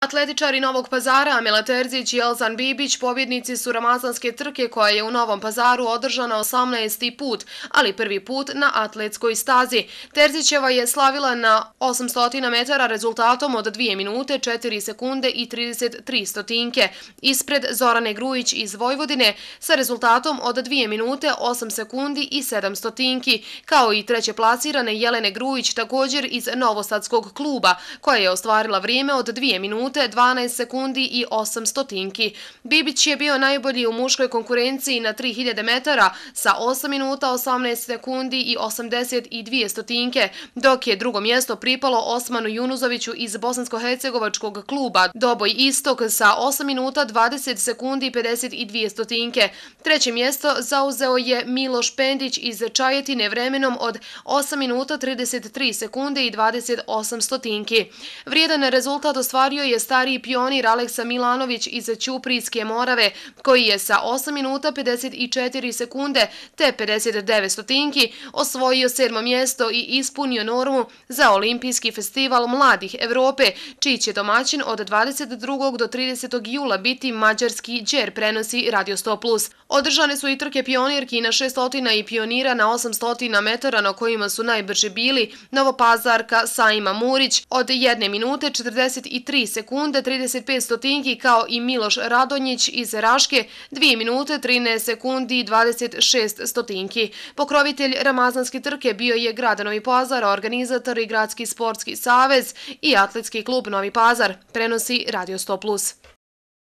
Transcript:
Atletičari Novog Pazara Amela Terzić i Elzan Bibić pobjednici su ramazanske trke koja je u Novom Pazaru održana 18. put, ali prvi put na atletskoj stazi. Terzićeva je slavila na 800 metara rezultatom od 2 minute, 4 sekunde i 33 stotinke, ispred Zorane Grujić iz Vojvodine sa rezultatom od 2 minute, 8 sekundi i 7 stotinki, kao i treće plasirane Jelene Grujić također iz Novosadskog kluba, koja je ostvarila vrijeme od 2 minute, 12 sekundi i 8 stotinki. Bibić je bio najbolji u muškoj konkurenciji na 3000 metara sa 8 minuta, 18 sekundi i 82 stotinke, dok je drugo mjesto pripalo Osmanu Junuzoviću iz Bosansko-hercegovačkog kluba Doboj Istok sa 8 minuta, 20 sekundi i 52 stotinke. Treće mjesto zauzeo je Miloš Pendić iz Čajetine vremenom od 8 minuta, 33 sekunde i 28 stotinki. Vrijedan rezultat ostvario je stariji pionir Aleksa Milanović iz Ćuprijske Morave, koji je sa 8 minuta 54 sekunde te 59 stotinki osvojio 7. mjesto i ispunio normu za Olimpijski festival mladih Evrope, čiji će domaćin od 22. do 30. jula biti mađarski Đer, prenosi Radio 100+. Održane su i trke pionirki na 600 i pionira na 800 metara, na kojima su najbrži bili Novopazarka Saima Murić od 1 minute 43 sekunde 35 stotinki, kao i Miloš Radonjić iz Raške 2 minute 13 sekundi i 26 stotinki. Pokrovitelj ramazanske trke bio je grad Novi Pazar, organizator i Gradski sportski savez i Atletski klub Novi Pazar, prenosi Radio 100+.